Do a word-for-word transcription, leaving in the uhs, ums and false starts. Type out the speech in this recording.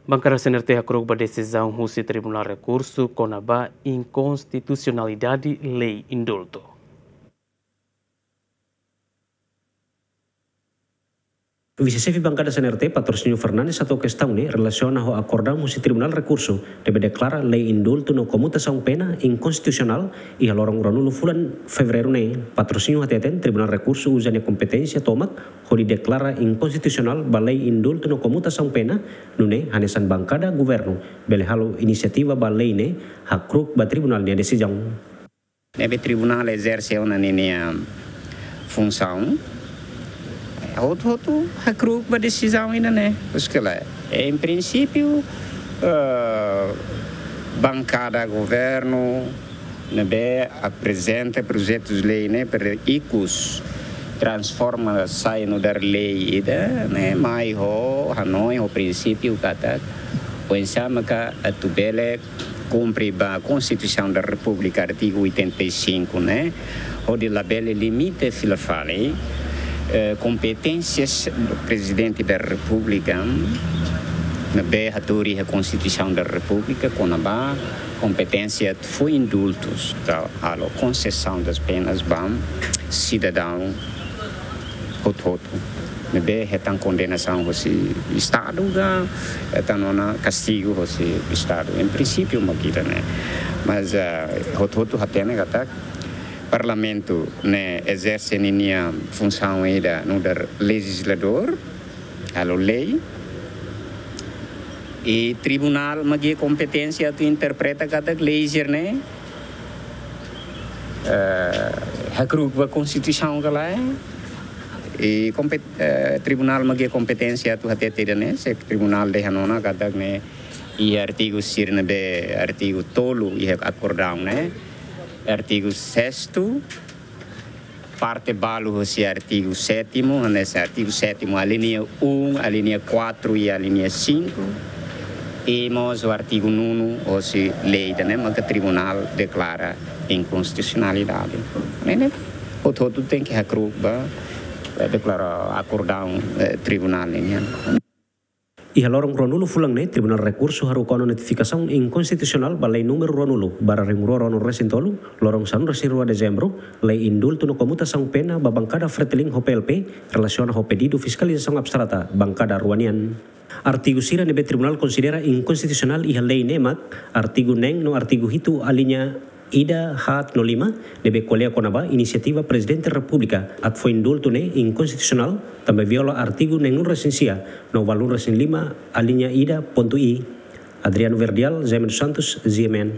Bankada C N R T hakru'uk ba desizaun husi Tribunál Rekursu kona-ba inkonstitusionalidade lei indultu. Vise-Xefe Bankada C N R T, Patrocínio Fernandes, hato'o kestaun ne'e relasiona ho akordaun husi Tribunál Rekursu ne'ebé deklara lei indultu no komutasaun pena inkonstitusionál iha loron ruanulu fulan Fevereiru ne'e. Patrocínio hateten Tribunál Rekursu uza nia kompeténsia tomak hodi deklara inkonstitusionál ba lei indultu no komutasaun pena, nune'e hanesan bankada governu bele halo inisiativa ba lei ne'e hakru'uk ba tribunál nia desizaun. Ne'ebé tribunál ezerse ona ninia funsaun, hotu-hotu hakru'uk ba desizaun ida-ne'e. Pois ke la, em princípio, eh, bankada governu ne'ebé aprezenta projetus lei ne'e para ikus transforma sai nu'udar lei ida-ne'e, mai ho hanoin, ho prinsípiu katak oinsá maka atu bele kumpre ba Constituição da República, artigo oitenta e cinco, ne'e, hodi labele limita fila fali, eh, kompeténsias Prezidente da República, ne'ebé hatudu iha Constituição da República, kona-ba kompeténsia atu fó indultus, ka halo konsesaun das penas ba sidadaun hotu-hotu ne'ebé hetan kondenasaun hosi Estadu ka hetan ona kastigu hosi Estadu. Em princípio, mak ida-ne'e. Mas, ah, hotu-hotu hatene katak Parlamentu ne'e ezerse ninia funsaun ida nu'udar lejizladór, halo lei. I tribunál mak iha kompeténsia atu interpreta katak lei sira-ne'e, eh, hakru'uk ba Konstituisaun ka lae. I kompet-, eh, tribunál mak iha kompeténsia atu hatete ida-ne'e, se tribunál dehan ona katak ne'e iha artigu sira ne'ebé, artigu tolu iha akordaun ne'e, artigu sestu, parte balu hosi artigu sétimu, hanesan artigu sétimu, alínea um, alínea quatro i alínea cinco, i mós ho artigu nonu hosi lei ida-ne'e maka tribunál deklara inkonstitusionalidade. Ne'e, ne'e, hotu-hotu tenke hakru'uk ba, eh, deklara akordaun, eh, tribunál nian. Iha loron ruanulu fulan ne'e, Tribunál Rekursu haruka ona notifikasaun inkonstitusionál ba lei númeru ruanulu barra rihun rua ruanulu resin tolu, loron sanulu resin rua Dezembru, lei indultu no komutasaun pena ba bankada Fretilin ho P L P, relasiona ho pedidu fiskalizasaun abstrata bankada rua nian. Artigu sira ne'ebé tribunál konsidera inkonstitusionál iha lei ne'e mak artigu neen no artigu hitu alínea ida, haat no lima, ne'ebé ko'alia kona-ba inisiativa Prezidente Repúblika atu fó indultu ne'e inkonstitusionál, tanba viola artigu neenulu resin sia no ualunulu resin lima alínea ida pontu i. Adriano Verdial, Jaime dos Santos, G M N.